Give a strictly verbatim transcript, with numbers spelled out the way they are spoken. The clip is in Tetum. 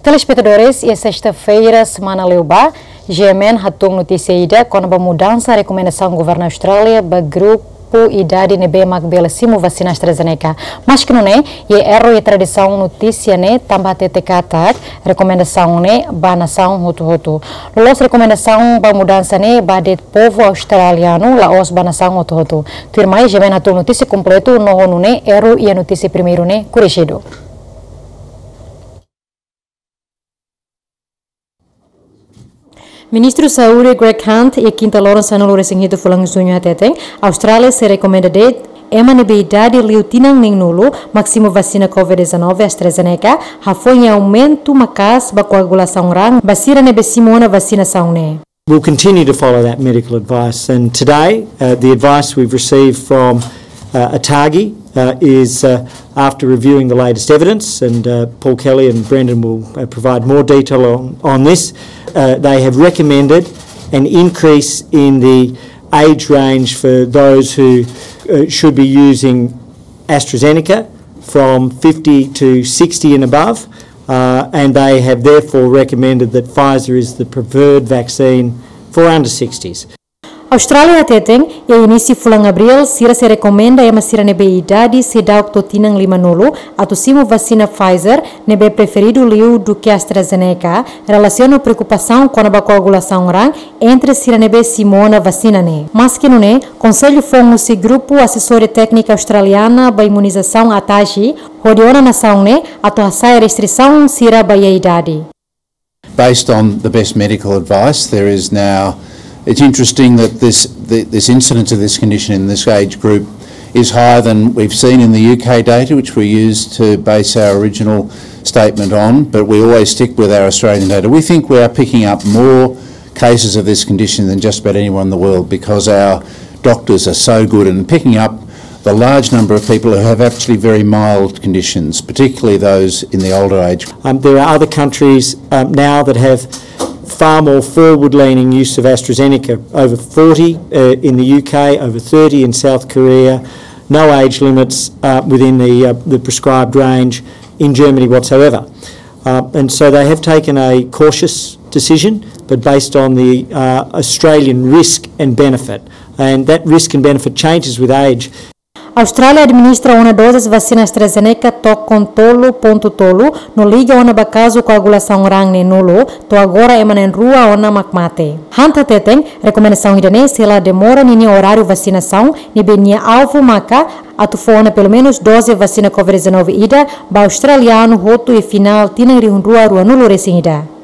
Telespetadores, iha sesta-feira semana liubá, G M N hatún notísia ida kona-ba mudansa rekomendasaun governu Austrália ba grupu idade ne'ebé mak bele simu vasina AstraZeneca. Maski nune'e, iha erru iha tradisaun notísia ne'e tanba hatete katak rekomendasaun ne'e ba nasaun hotu-hotu. Loloos rekomendasaun ba mudansa ne'e ba de'it povu australianu, la'ós ba nasaun hotu-hotu. Tuirmai, G M N hatún notísia kompletu no ho nune'e erru iha notísia primeiru ne'e korijidu. Ministru Saúde Greg Hunt iha kinta loron sanulu-resin-hitu fulan Juñu hateten, Austrália sei rekomenda de'it ema ne'ebé idade liu tinan neen-nulu mak simu vasina COVID dezanove AstraZeneca, hafoin iha aumentu maka'as ba koagulasaun raan ba sira ne'ebé simu ona vasinasaun ne'e. We'll continue to follow that medical advice, and today, uh, the advice we've received from, uh, ATAGI, uh, is, uh, after reviewing the latest evidence, and, uh, Paul Kelly and Brendan will, uh, provide more detail on, on this. Uh, they have recommended an increase in the age range for those who, uh, should be using AstraZeneca from fifty to sixty and above, uh, and they have therefore recommended that Pfizer is the preferred vaccine for under sixties. Austrália hateten, iha inísiu fulan Abríl, sira sei rekomenda ema sira ne'ebé idade seidauk to'o tinan limanulu atu simu vasina Pfizer, ne'ebé preferidu liu duké AstraZeneca, relasiona ho preokupasaun kona-ba koagulasaun raan entre sira ne'ebé simu ona vasina ne'e. Maski nune'e, konsellu foun husi Grupu Asesória Téknika Australiana ba Imunizasaun, ATAGI, hodi ona nasaun ne'e atu hasa'e restrisaun sira ba iha idade. Based on the best medical advice, there is now, it's interesting that this, the, this incidence of this condition in this age group is higher than we've seen in the U K data, which we used to base our original statement on, but we always stick with our Australian data. We think we are picking up more cases of this condition than just about anyone in the world because our doctors are so good in picking up the large number of people who have actually very mild conditions, particularly those in the older age. Um, there are other countries, um, now that have far more forward-leaning use of AstraZeneca, over forty, uh, in the U K, over thirty in South Korea, no age limits, uh, within the, uh, the prescribed range in Germany whatsoever. Uh, and so they have taken a cautious decision, but based on the, uh, Australian risk and benefit. And that risk and benefit changes with age. Austrália administra ona dozes vasina AstraZeneca to'o tolu pontu tolu, no liga ona ba kazu koagulasaun raan ne'e nulu, to'o agora ema na'in-rua ona mak mate. Hunt hateten, rekomendasaun ida-ne'e sei la demora ninia oráriu vasinasaun, ne'ebé nia alvu maka atu fó ona pelumenus doze vasina COVID dezanove ida ba australianu hotu iha finál tinan rihun rua ruanulu-resin-ida.